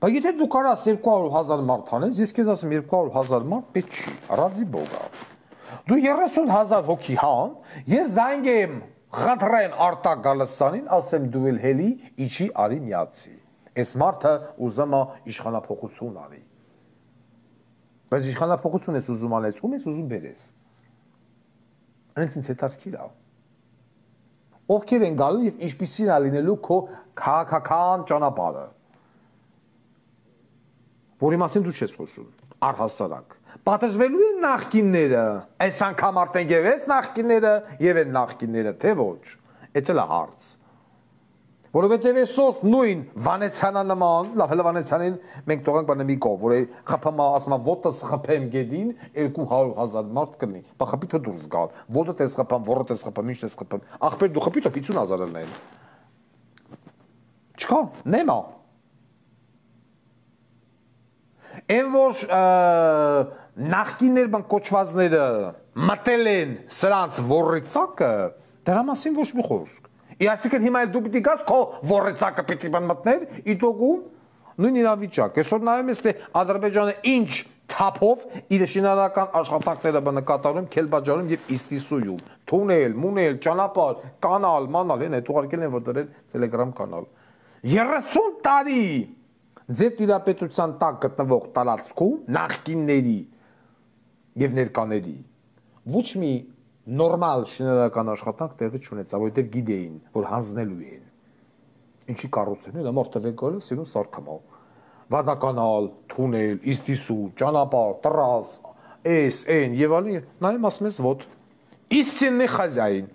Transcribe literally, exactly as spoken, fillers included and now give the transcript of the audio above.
Բայց եթե դու կարաս երկու հարյուր հազար մարդ անես, ես քեզ ասեմ երկու հարյուր հազար մարդ պետք չի, ռադի բոգա։ Դու երեսուն հազար հոգի հան, ես զանգեմ Ղադրեն Արտակ Գալստյանին, ասեմ դու էլ հելի իջի արի միացի։ Այս մարդը ուզում է իշխանափոխություն արի։ Բայց իշխանափոխություն ես ուզում անես, ում ես ուզում բերես։ Այնց ինձ հետաքրքիր է։ Ովքեր են գալու եւ ինչպիսին է լինելու քո քաղաքական ճանապարհը։ Որի մասին դու չես խոսում, առհասարակ։ Պատժվելու են նախկինները, այս անգամ արդեն եւ այս նախկինները եւ այն նախկինները, թե ոչ։ Էդ էլ է հարց։ Որովհետև այսօր նույն Վանեցյանը նման, լավ հələ Վանեցյանին մենք թողանք բանը մի կողմ, որ խփամա ասում է ոտս խփեմ գեդին երկու հարյուր հազար մարդ կլինի։ Բա խփի թե դուրս գալ։ Ոտը տես խփամ, ոռը տես խփամ, ինչ տես խփամ։ Ախպեր դու խփի թե պիտուն հազար լինեն։ Չկա, նեմա։ Այն որ նախկիններ բան կոչվածները մտել են սրանց ոռիցակը, դրա մասին ոչ մի խոսք։ Այսինքն հիմա դու պիտի գաս քո ոռիցակը պիտի բան մտներ, իտոգում նույն իրավիճակ։ Այսօր նայում ես թե Ադրբեջանը ինչ թափով իր շինարարական աշխատանքները բանը կատարում, Քելբաջարում եւ Իստիսույում։ Թունել, մունել, ճանապարհ, կանալ, մանալ, են այդ ուղարկել են որ դրել Telegram կանալ։ երեսուն տարի ձեր տիրապետության տակ գտնվող տարածքում նախկինների եւ ներկաների ոչ մի նորմալ շինարարական աշխատանք տեղի չունեցավ, որովհետև գիտեին, որ հանձնելու էին։ Ինչի կառուցել են, մարդը վեկորը սիրուն սարքամալ։ Վադականալ, թունել, իստիսու, ճանապարհ, տրաս, էս, այն եւ այլն, նայում ասում ես ոտ։ Истинный хозяин։